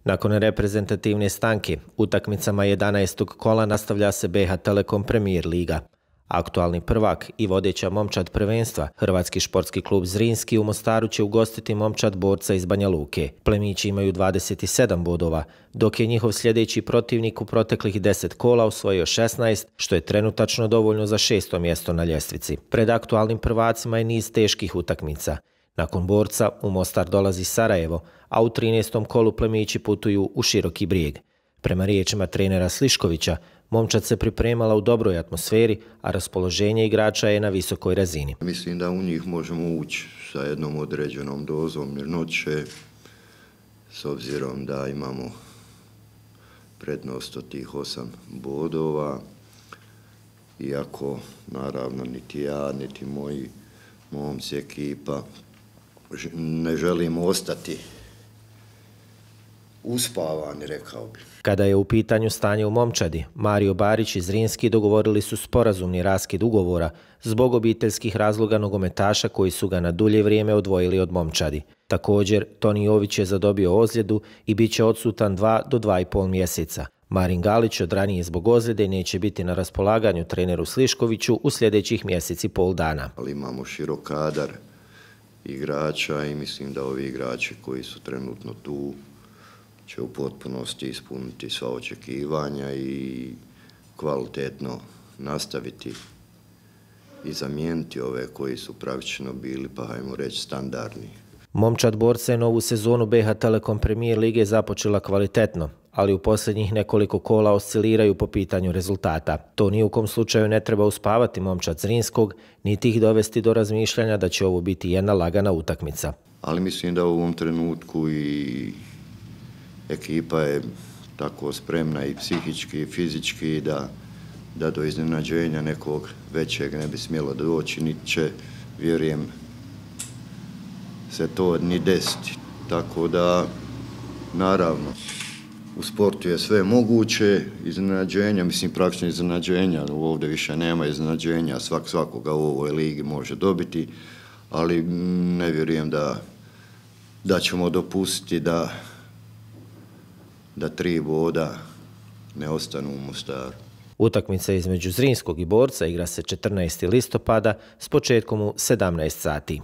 Nakon reprezentativne stanke, utakmicama 11. kola nastavlja se BiH Telekom Premier Liga. Aktualni prvak i vodeća momčad prvenstva, Hrvatski športski klub Zrinski u Mostaru će ugostiti momčad Borca iz Banja Luke. Plemići imaju 27 bodova, dok je njihov sljedeći protivnik u proteklih 10 kola osvojio 16, što je trenutačno dovoljno za 6. mjesto na ljestvici. Pred aktualnim prvacima je niz teških utakmica. Nakon Borca u Mostar dolazi Sarajevo, a u 13. kolu plemići putuju u Široki Brijeg. Prema riječima trenera Sliškovića, momčad se pripremala u dobroj atmosferi, a raspoloženje igrača je na visokoj razini. Mislim da u njih možemo ući sa jednom određenom dozom mirnoće, s obzirom da imamo prednost od tih 8 bodova, iako naravno niti ja, niti moji momci ekipa ne želimo ostati uspavani, rekao bih. Kada je u pitanju stanje u momčadi, Mario Barić i Zrinski dogovorili su sporazumni raskid ugovora zbog obiteljskih razloga nogometaša koji su ga na dulje vrijeme odvojili od momčadi. Također, Toni Jović je zadobio ozljedu i bit će odsutan 2 do 2,5 mjeseca. Marin Galić od ranije zbog ozljede neće biti na raspolaganju treneru Sliškoviću u sljedećih mjesec i pol dana. Ali imamo širok kadar igrača i mislim da ovi igrači koji su trenutno tu će u potpunosti ispuniti sva očekivanja i kvalitetno nastaviti i zamijeniti ove koji su pravično bili, pa hajmo reći, standardni. Momčad Borca je novu sezonu BiH Telekom Premier Lige započela kvalitetno, ali u posljednjih nekoliko kola osciliraju po pitanju rezultata. To ni u kom slučaju ne treba uspavati momčad Zrinskog, niti ih dovesti do razmišljanja da će ovo biti jedna lagana utakmica. Ali mislim da u ovom trenutku i ekipa je tako spremna i psihički i fizički da do iznenađenja nekog većeg ne bi smjelo doći, niti će, vjerujem, se to ni desiti. Tako da, naravno, u sportu je sve moguće, iznenađenja, mislim praktično iznenađenja, ovdje više nema iznenađenja, svakoga u ovoj ligi može dobiti, ali ne vjerujem da ćemo dopustiti da 3 boda ne ostanu u Mostaru. Utakmica između Zrinskog i Borca igra se 14. listopada s početkom u 17 sati.